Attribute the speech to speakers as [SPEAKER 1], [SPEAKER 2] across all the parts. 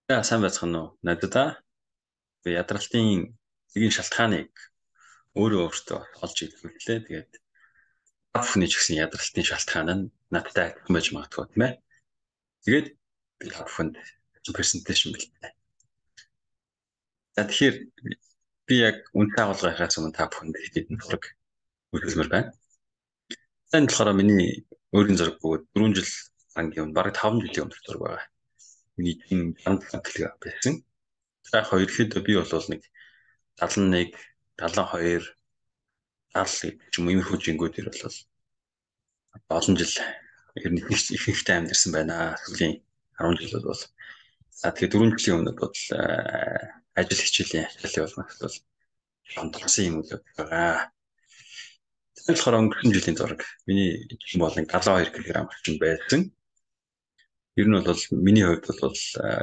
[SPEAKER 1] За сайн байцгаана уу? Надад ядралтын эгийн шалтгааныг өөрөө өөртөө олж идэх үлээ. Тэгээд бүхний ч гэсэн ядралтын шалтгаан нь надтай адилхан байж магадгүй тийм ээ. Тэгээд би бүхэнд презентацийн бэлтээ. За тэгэхээр би яг үнэтэй агуулгынхаас өмнө та бүхэнд хэдийн зураг үзүүлмээр байна. Энэ болохоор миний өөрийн зураг бөгөөд 4 жил ангийн өмнө бараг 5 жилийн өмнөх зураг байгаа. Миний энэ хандлага байсан. За яг ерөөхдөө би бол нэг 71, 72 70 ч юм уу иймэрхүү жингүүд дэр бол олон жил ер нь их ихтэй амьдэрсэн байна. Сүүлийн 10 жил бол за тэгээ 4 жилийн өмнө бол ажил хичээлийн ажлын болмогт бол хандсан юм уу байгаа. Тэр болохоор өнгөрсөн жилийн зураг. Миний жин бол 72 кг орчим байсан. Ер нь бол миний хувьд бол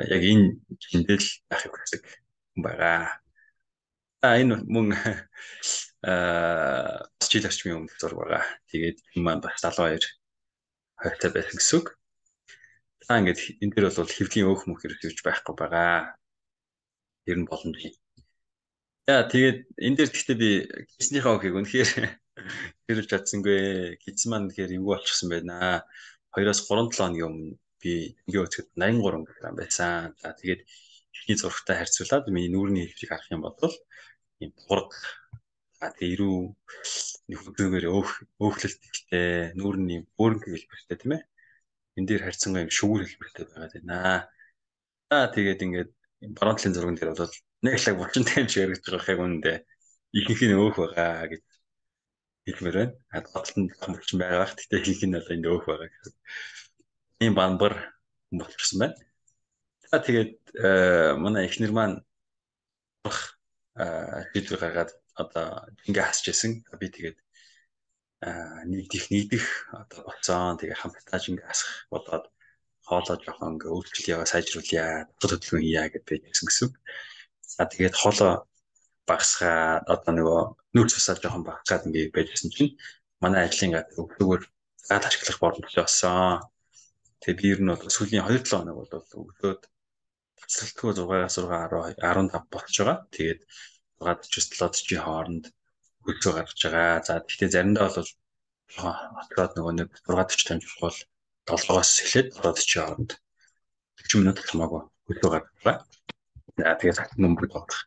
[SPEAKER 1] яг энэ жиндэл байхыг хүсдэг байгаа. Энэ мөн жил орчмын өмнөх зураг байгаа. Тэгээд энэ маань бас 72 хойтой байсан гэсэн үг. Ингээд энэ дээр бол хэвлийн өөх мөх хэрэгжиж байхгүй байгаа. Ер нь боломж. Яа тэгээд энэ дээр гэхдээ би гиснийхээ өөхийг үнэхээр хэрэгж чадсангүй. Гисэн маань тэгэхээр эвгүй болчихсон байна. 2-3 7 хоногийн өмнө би ингээ өцгөд 83 кг байсан. За тэгээд ихний зурагтай харьцуулаад миний нүүрний хэвлийг харах юм бол ийм бург тэгээ ирүү нөхөдгөөр өөхлөлттэй нүүрний өөрөнгө хэлбэртэй тийм ээ. Энд дээр харьцангуй юм шүүр хэлбэртэй байгаа байна. Тэгээд ингээд баруун талын зурган дээр бол нэг лаг булчинтай юм шиг яригдж байгаа хэрэг үнэндээ ихэнх нь өөх байгаа гэж хэлмээр байна. Гадаалтанд булчин байгаа. Гэхдээ ихэнх нь одоо энд өөх байгаа гэсэн. Ийм бамбар болчихсон байна. Тэгээд манай эхнэр маань шийдвэр гаргаад одоо ингээ хасч исэн. Би тэгээд нийтдэх одоо болцсон. Тэгээ хамтдаа ингээ хасах болоод хоолоо жоохон ингээ өөрчлөлөө сайжруулъя, хөдөлгөөн хийя гэж байсан гэсэн. Тэгээд хоолоо багасгаа одоо нөгөө нүүр цусаа жоохон багасгаад ингээ байжсэн чинь манай ажлын газар өглөөгөр заад ашиглах боломжтой болсон. Тэгээ би ер нь бол сүүлийн 2-7 хоног бол өглөөд тасралтгүй 6-аас 15 болж байгаа. Тэгээд 6:40-7:40 хооронд хөлцөө гаргаж байгаа. За гэхдээ заримдаа бол хотлоод нөгөө нэг 6:40 дамжих бол 7-оос эхлээд 7:40 хооронд 40 минут хамаагүй хөлцөө гаргаж байгаа. Тэгээд нөмбөр тоодох.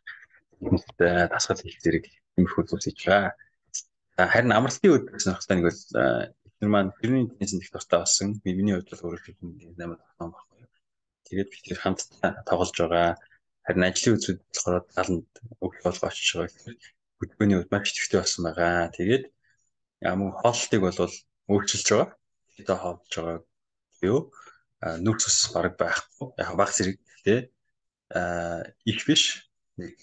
[SPEAKER 1] Хүмүүстэй дасгал хийх зэрэг юмхүү зүйлс хийж байгаа. Харин амралтын үед сонирхолтой нэг бол эхнэр маань тэрний тэнцэн их дуртай болсон. Миний хувьд бол өөрөө хэлбэл 8 тахсан байхгүй. Тэгээд бид тэр хамтдаа тоглож байгаа. Харин ажлын үзүүд болохоор таланд өглөө болго очиж байгаа. Хөдөлгөөний үед маш төвтэй болсон байгаа. Тэгээд ямар хоолтыг бол өөрчилж байгаа. Хэдэ хоолж байгаа юу? Нүрс ус бараг байхгүй. Яг баг зэрэг гэхдээ их биш. Нэг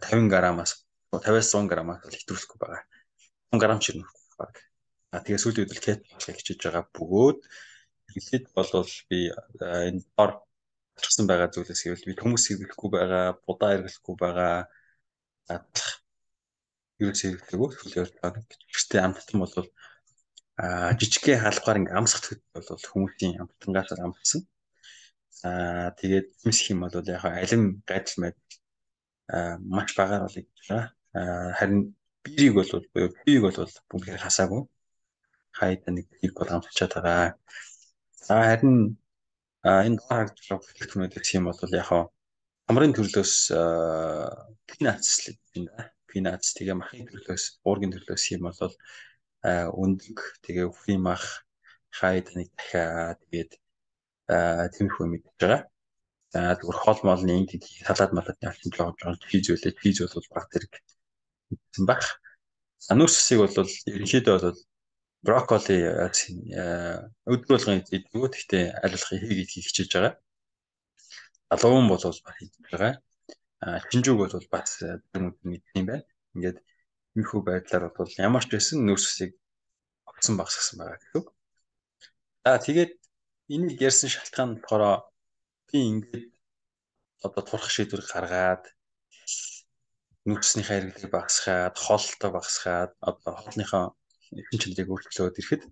[SPEAKER 1] 50 граммаас 50-аас 100 граммаас бол хэтрүүлэхгүй байгаа. 100 грамм ч ирнэ баг. Тэгээ сүүлийн үед кет болохыг хичээж байгаа бөгөөд хэлээд болвол би энэ дор болчихсон байгаа зүйлээс гэвэл би хүмүүсийг хэлэхгүй байгаа, будаа эргэлэхгүй байгаа. Ерөөсөө хэрэглэхгүй хүлээж байгаа. Гэхдээ амттан бол жижигхэн хаалгаар ингээм амсгах бол хүмүүсийн амттангаас амтсан. Тэгээд юмсх юм бол яг алим гайдал мэд маш багаар бол гэж байгаа. Харин биеийг бол бүгд хасаагүй. Хайда нэг бийг бол амтчаад байгаа. Харин энэ харагдах хэлбэрүүд гэх юм бол яг хамрын төрлөөс пинац тэгээ махын төрлөөс уургийн төрлөөс юм бол өндөг тэгээ өвхийн мах хайд нэг дахиад тэгээд тэмхүү мэдж байгаа. Зүгээр хоол моолны ингэ салаад малаад явсан жоохон чиз бол баг зэрэг гэсэн баг. Нүүрсийг бол ерөнхийдөө бол брокколи өдөр болгон идэх. Гэхдээ аль болох хийх хичээж байгаа. Алуун бол баг хийж байгаа. Шинжүүг бол бас мэдсэн юм байна. Ингээд энэхүү байдлаар бол ямар ч байсан нөөцсийг огцон багасгасан байгаа гэдэг. Тэгээд энийг ярьсан шалтгаан болохоор би ингээд одоо турах шийдвэр гаргаад нөөцснийхээ хэрэглэгийг багасгаад, хоолтоо багасгаад одоо хоолныхоо эрчим чанарыг өөрчлөөд ирэхэд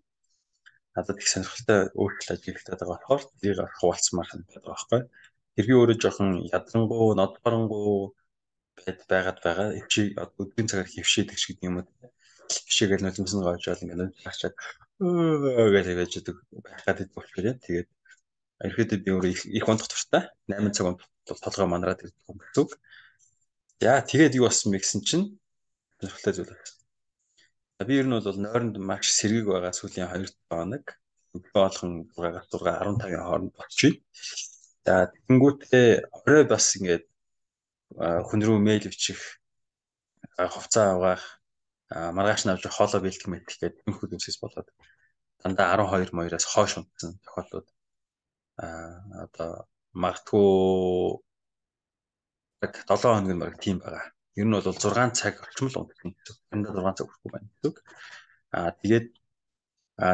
[SPEAKER 1] надад их сонирхолтой өөрчлөлт ажиглагдаад байгаа болохоор тэрийг хуваалцмаар санагдаад байгаа байхгүй. хэрвээ өөрөө жоохон ядрангуу, нодборнгуу байгаад байгаа. Чи өдрийн цагаар хөвшөөдөг шиг юм уу? Хөвшөөгээл нулимсан гоожол ингээд харчаад гэж байж идэг байхад идэх болохоор яа. Тэгээд ерөөдөө би өөрөө их унтах туфтаа 8 цаг толгой манараад ирдэг юм гэсэн. Яа тэгээд юу болсон бэ гэсэн чинь сонирхолтой зүйл байна. Би ер нь бол нойронд маш сэргийг байгаа сүүлийн 2 хоног өглөө болгон 6-аас 15-ын хооронд болчих. За тэгэнгүүтээ орой бас ингээд хүн рүү мэйл бичих, хувцас авах, маргааш навж хоолой бэлтгэх мэтэх гэдэг нөхөд юмсээс болоод дандаа 12-2-оос хойш унтсан тохиолдлууд одоо магадгүй 7 хоног нь баг тийм байгаа. Ер нь бол 6 цаг орчим л унтдаг гэсэн. Дандаа 6 цаг хүрэх байна гэсэн. Тэгээд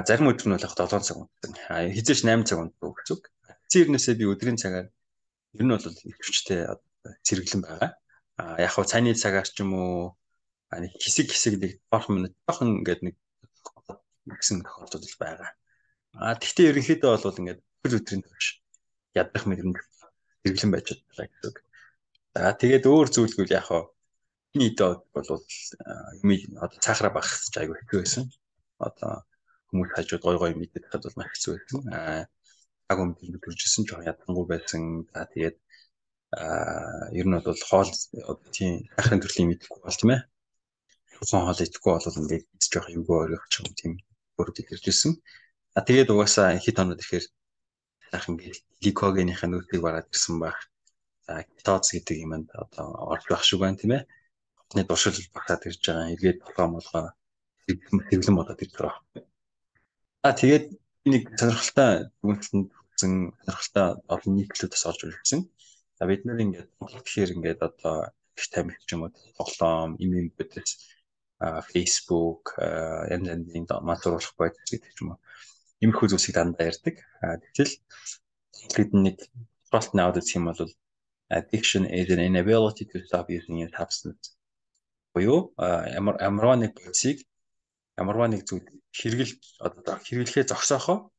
[SPEAKER 1] зарим өдөр нь бол яг 7 цаг унтдаг. Хизээч 8 цаг унтдаг гэсэн. Цэрнээсээ би өдрийн цагаар ер нь бол ихэвчтэй зэрэглэн байгаа. Яг хав цайны цагаар ч юм уу хэсэг нэг борхон минут жоохон ингээд нэг гэсэн тохиолдол байгаа. Тэгвэл ерөнхийдөө бол ингээд хөл өдрийн турш ядах мэдрэмж зэрэглэн байж байгаа гэсэн. Тэгээд өөр зүйлгүй яг хав нийтээ бол одоо цаахраа багах ч айгүй хэцүү байсан. Одоо хүмүүс хажууд гой мэдээд хад бол маш хэцүү байсан. Агуун төржсэн жоохон ядангуй байсан. Тэгээд ер нь бол хоол тийм ахын төрлийн мэдэхгүй бол тийм ээ. Хоол идэхгүй бол ингээд жоох эвгүй орох ч юм тийм бүрдэж иржсэн. Тэгээд угаасаа хэд хоноод ирэхээр ах ингээд гликогенийхээ нөөцийг бараад ирсэн баг. Кетоз гэдэг юмд одоо орж байх шиг байна тийм ээ. Хотны дуршил багтаад ирж байгаа. Эргээд толгой хэвлэн болоод ирж байгаа. Тэгээд нэг сонирхолтой дүгнэлтэнд сонирхолтой олон нийтлүүдээс орж ирсэн. Бид нэр ингээд тэгэхээр ингээд одоо их тамиг ч юм уу тоглоом, имэйлүүдээс Facebook, янз-янзын мансууруулах байдал гэдэг ч юм уу. Иймэрхүү зүйлсийг дандаа ярьдаг. Тэгвэл бид нэг профт наваад үзэх юм бол addiction is an inability to stop using a substance. Буюу ямар нэг зүйлсийг ямар нэг зүйл хэрэглэхээ зогсоохоо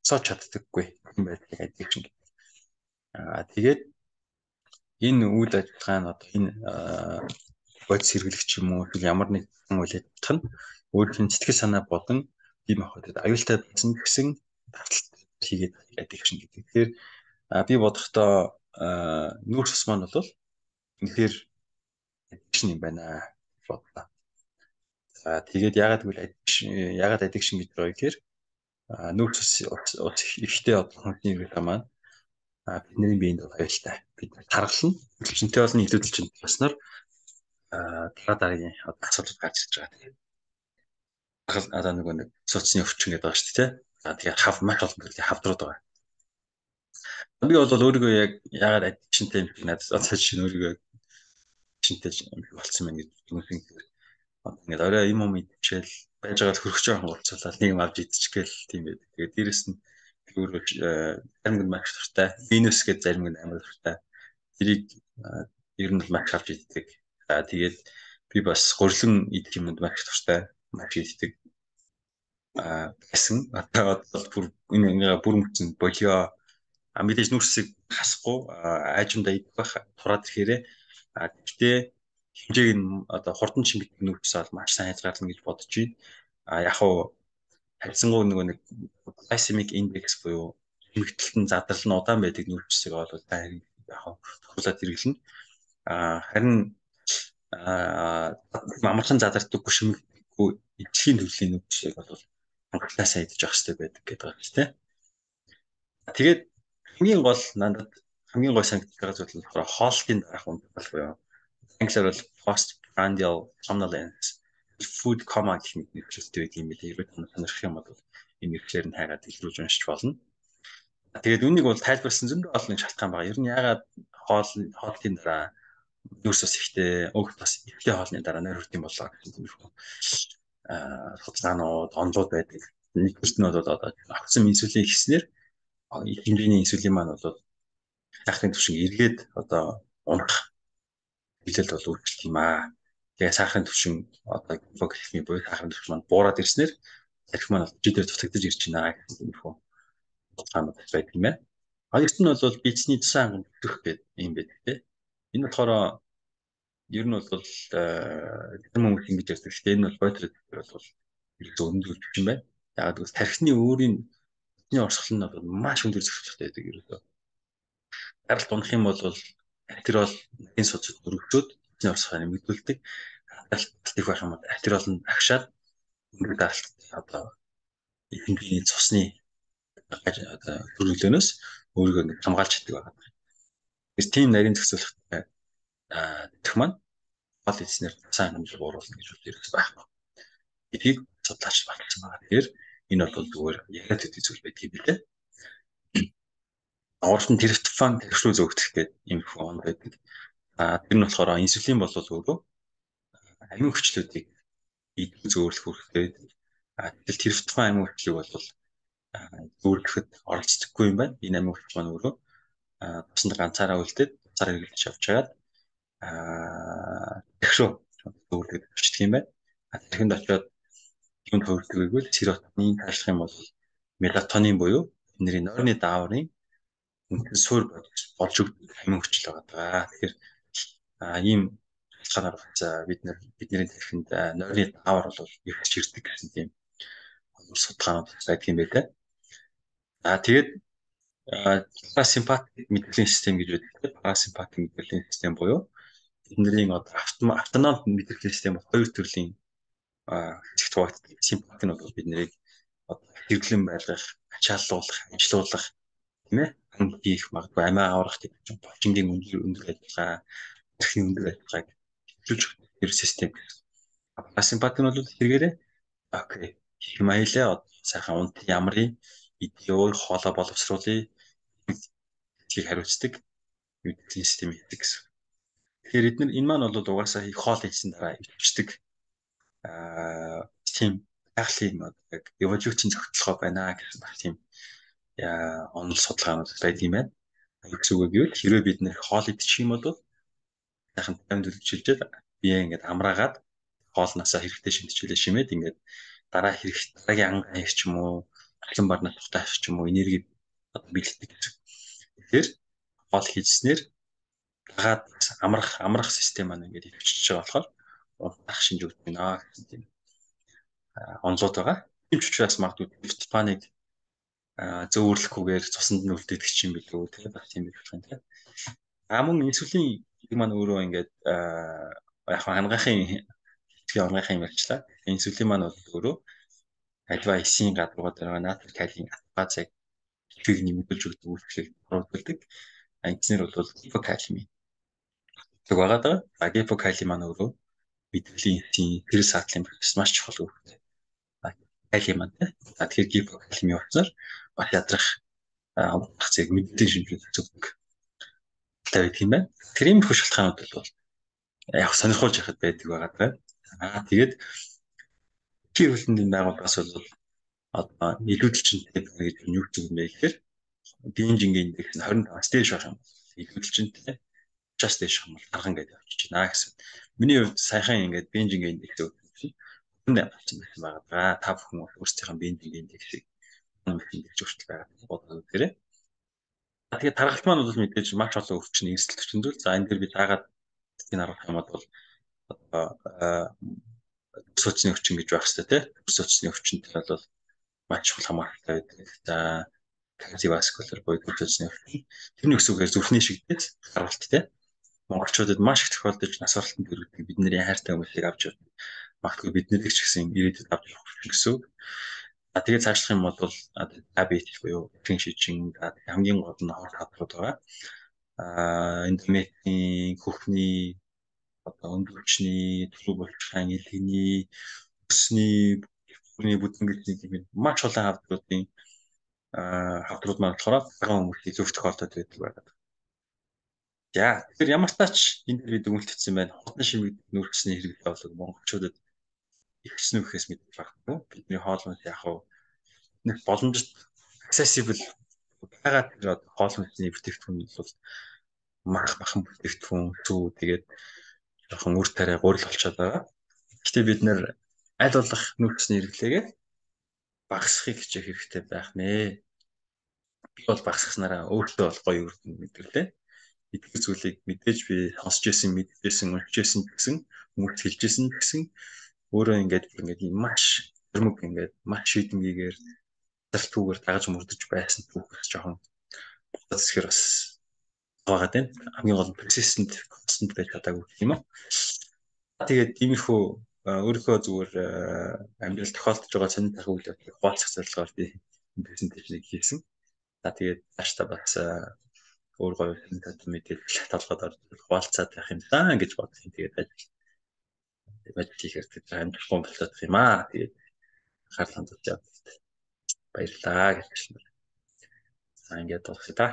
[SPEAKER 1] цоч чаддаггүй юм байдаг addiction гэдэг. Тэгээд энэ үйл ажиллагаа нь одоо энэ бодис хэрэглэгч юм уу ямар нэг үйл ажиллагаа нь өөрийн сэтгэл санаа болон ийм хавьд аюултай байсан гэсэн давталт хийгээд addiction гэдэг. Тэгэхээр би бодохдоо нүүрс ус маань бол үнэхээр addiction юм байна бодлоо. Тэгээд ягаад addiction гэж байгаа гэхээр нүүрс ус ихтэй одоо хүний хэрэглээ маань бидний биед бол аюултай. Бид тархална. Хүчнтэй болно илүүдэлж баснаар дараагийн асуудал гарч ирж байгаа. Тэгээд одоо нэг соцны өвчин гэдэг байгаа шүү дээ. Тэгээд маш олон төрлийн хавдрууд байгаа. Би бол өөрийгөө яг яагаад addiction-тэй юм бэ надад одоо чинь өөрийгөө addiction-тэй болцсон байна гэж дүнхэн ингээд орой юм идчихэл байж байгаа л хөргөж байгаа болцоолаа нэг юм авч идчихгээл тийм байдаг. Тэгээд дээрэс нь өөрөө зарим нь маш дуртай. Venus гэдэг зарим нь амар дуртай. Тэрийг ер нь маш авч иддэг. Тэгээд би бас гурилан идэх юмд маш дуртай. Маш иддэг. Гэсэн одоо бүр бүр мөцөн болио мэдээж нүрсийг хасахгүй аажимдаа идэх байх тураад ирэхээрээ гэхдээ хэмжээг нь одоо хурдан чимэгдэх нүрс бол маш сайн хязгаарлана гэж бодож байна. Яг уу харьцангуй нэг glycemic index буюу хэмжигдэлтэн задрал нь удаан байдаг нүрсийг бол яг тохиолдоод хэрэглэнэ. Харин амархан задардаггүй шимэгдэхгүй эцгийн төрлийн нүрсийг бол анхлаасаа идэж явах хэрэгтэй байдаг гэдэг байна тийм. Тэгээд хамгийн гол надад хамгийн гой санагдаж байгаа зүйл нь хоолтын дараах унтах буюу англиар бол postprandial somnolence food coma гэх мэт нэршилтэй байдаг юм билээ. Хэрвээ сонирхох юм бол энэ нэршлэр нь хайгаад илрүүлж уншиж болно. Тэгээд үнийг бол тайлбарласан зөндөө олон шалтгаан байгаа. Ер нь ягаад хоолтын дараа нүрс ус ихтэй, өөх бас ихтэй хоолны дараа нойр хүрдэм болоо гэсэн тиймэрхүү судалгаанууд, онолууд байдаг. Нэгдүгürt нь бол одоо огцом инсулин ихснээр хэмжээний инсулин маань бол сахарын түвшин эргээд одоо унах хилэл бол үүсгэх юм аа. Тэгээ сахарын түвшин одоо гипогликемия буюу сахарын түвшин маань буураад ирснээр арх маань жидээр дутагдаж ирж байна гэсэн юм хөө. Судалгаанууд байдаг юм байна. Хоёрт нь бол бичсний тусгай хангамж өгөх гэдэг юм байдаг тийм. Энэ болохоор ер нь бол зарим хүмүүс ингэж ярьдаг. Гэхдээ энэ бол бойтер бол ерөөсөө өндөр юм байна. Яагаад гэвэл тархины өөрийн орсгол нь бол маш өндөр зөрчилтэй байдаг ерөөсөө. Гаралт унах юм бол артериол нарийн судасд өргөжөөд тархины орсголыг нэмэгдүүлдэг. Гаралт их байх юм бол артериол нь агшаад өндөр гаралт одоо ихэнх цусны хөрөглөнөөс өөрийгөө ингэ хамгаалж чаддаг байна. Тэр тийм нарийн зохицуулалттай дэх маань гол эзнэр сайн хэмжээ бууруулна гэж үл ерөөс байхгүй. Эдийг судлаач баталсан байгаа. Тэгэхээр энэ бол зүгээр яриад өгдөг зүйл байдаг юм билээ. Орчин триптофан төвшрүү зөөгдөх гэдэг юм хон байдаг. Тэр нь болохоор инсулин бол өөрөө амин хүчлүүдийг идэх зөөлөх хэрэгтэй. Тэгэл триптофан амин хүчлийг бол зөөлөхөд оролцдоггүй юм байна. Энэ амин хүч маань өөрөө тусанд ганцаараа үлдээд ганцаараа хэрэглэж авч чагаад төвшрүү зөөлөхөд очдөг юм байна. Тэгэхэд очиод юм төвлөрдөггүй серотонин ташлах юм бол мелатонин буюу бидний нойрны дааврын суур болж өгдөг амин хүчил байгаа. Тэгэхээр ийм шалтгаанаар бидний тархинд нойрны даавар бол ихж ирдэг гэсэн тийм судалгаанууд байдаг юм байна. Тэгээд парасимпатик мэдрэлийн систем гэж байдаг. Парасимпатик мэдрэлийн систем буюу бидний автоном мэдрэлийн систем хоёр төрлийн хэсэгт хуваагддаг. Симпатик нь бол биднийг хэрэглэн байлгах, ачааллуулах, ажилуулах тийм ээ хийх магадгүй амиа аврах гэдэг чинь болчингийн өндөр ажиллагаа, тархины өндөр ажиллагааг хэвлүүлж өгөх систем. Парасимпатик нь бол хэрэгээрээ окей хэмаилаа сайхан унт ямрын идеой хоолой боловсруулъя гэдгийг хариуцдаг мэдрэлийн систем хийдэг гэсэн. Тэгэхээр эдгээр энэ маань бол угаасаа их хоол хийсэн дараа ивчдэг тийм байгалийн яг эволюцийн зохицолгоо байна гэсэн баг тийм онол судалгаанууд байдаг юм байна. Юу зүгөө гэвэл хэрвээ бид нэр хоол идчих юм бол сайхан 54 жилдээ бие ингээд амраагаад хоолноосоо хэрэгтэй шинжлэлээ шимээд ингээд дараагийн ангаа хийх ч юм уу, алан барнаа тухтай авчих ч юм уу, энерги бэлддэг гэсэн. Тэгэхээр хоол хийснээр дагаад амрах систем маань ингээд ивчиж байгаа болохоор унтах шинж өгдөг байна гэсэн тийм онлууд байгаа. Тийм ч учраас магадгүй триптофаныг зөөвөрлөхгүйгээр цуснд нь үлдээдэг юм билүү тийм баг тийм байх юм тийм. Мөн инсулин маань өөрөө ингээд яг хангахын онгойхон ярьчлаа. Инсулин маань бол өөрөө альва эсийн гадуур байгаа натрий калийн базыг хийг нэмэгдүүлж өгдөг үйлчлэгийг оруулдаг. Эцнэр бол гипокалими. Тэг байгаа даа. Гипокалими маань өөрөө мэдрэлийн эсийн тэр саатлын процесс маш чухал үүрэгтэй. Калий маань тэгэхээр гипокалими болсноор бах ядрах зэрэг мэдрэлийн шинжилгээ зөвдөг. Тэгээд тийм байна. Тэр ийм их шалтгаанууд бол яг сонирхолж яхад байдаг байгаа даа. Тэгээд тэр хөлтөнд байгууллагаас бол одоо илүүдэлчтэй гэж юу гэж юм бэ гэхээр Биенжингийн индекс нь 25-аас дээш байх юм. Илүүдэлчтэй 30-аас дээш юм бол тархан гэдэг авчиж байна гэсэн. Миний хувьд сайхан ингээд Биенжингийн индекс өгсөн. Хүнд авчихсан байгаа. Та бүхэн өөрсдийнхээ Биенжингийн индексийг мэдээж өөрчлөлт байгаа бодоод үзээрэй. Тэгээд таргалт маань бол мэдээж маш олон өвчин эрсдэл төрчин зүйл. За энэ дээр би дагаад энэ арга хэмэд бол одоо сууцны өвчин гэж байх хэрэгтэй тийм. Сууцны өвчнөд бол маш чухал хамааралтай байдаг. За кардиоваскулар буюу сууцны өвчин. Тэрний өсвөөр зүрхний шигдэж гаралт тийм. Монголчуудад маш их тохиолдож нас баралтанд хүргэдэг бидний хайртай хүмүүсийг авч явдаг. Магадгүй биднэрийг ч гэсэн ирээдүйд авч явах гэсэн. Тэгээд цаашлах юм бол диабет буюу эрийн шижин хамгийн гол нь хор хадрууд байгаа. Эндометрийн хөхний одоо өндөрчний төлөв болчихсан элхний өсний бүтэнгэрийн юм маш олон хавдруудын хавдрууд маань болохоор цагаан хүмүүсийн зөв тохиолдолд байдаг байдаг. За тэгэхээр ямар тач энэ дээр бид өгүүлчихсэн байна. Хотын шимэгд нүүрсний хэрэглээ болог монголчуудад ихсэн үхээс мэдээж багтгүй. Бидний хоолны яг нэг боломжит accessible байгаа тэр хоол хүнсний бүтээгдэхүүн бол махан бүтээгдэхүүн зүү тэгээд жоохон үр тариа гурил болчиход байгаа. Гэхдээ бид нэр аль болох нүүрсний хэрэглээгээ багасгахыг хичээх хэрэгтэй байх нэ. би бол багсгаснараа өөртөө бол гоё үрдэн мэдэрлээ. Итгэх зүйлийг мэдээж би сонсч байсан, мэдчихсэн, уншижсэн гэсэн, хүмүүст хэлжсэн гэсэн өөрөө ингээд маш тэрмэг ингээд маш шийдэмгийгээр зартүүгээр дагаж мөрдөж байсан түүхээс жоохон бодсохэр бас байгаа тийм. Хамгийн гол нь persistent, constant байж чадаагүй гэх юм уу. Тэгээд тиймэрхүү өөрийнхөө зүгээр амьдрал тохиолдож байгаа сонир тах үйл явдлыг хуваалцах зорилгоор би энэ презентацийг хийсэн. За тэгээд цааш та бас өөр гоё мэдээлэл талхад орж хуваалцаад байх юм даа гэж бодсон. Тэгээд ажил хийхээр тэр амжилттай болоод юм аа. Тэгээд харлан тулж яваад баярлалаа гэж хэлсэн. За ингээд дуусгая та.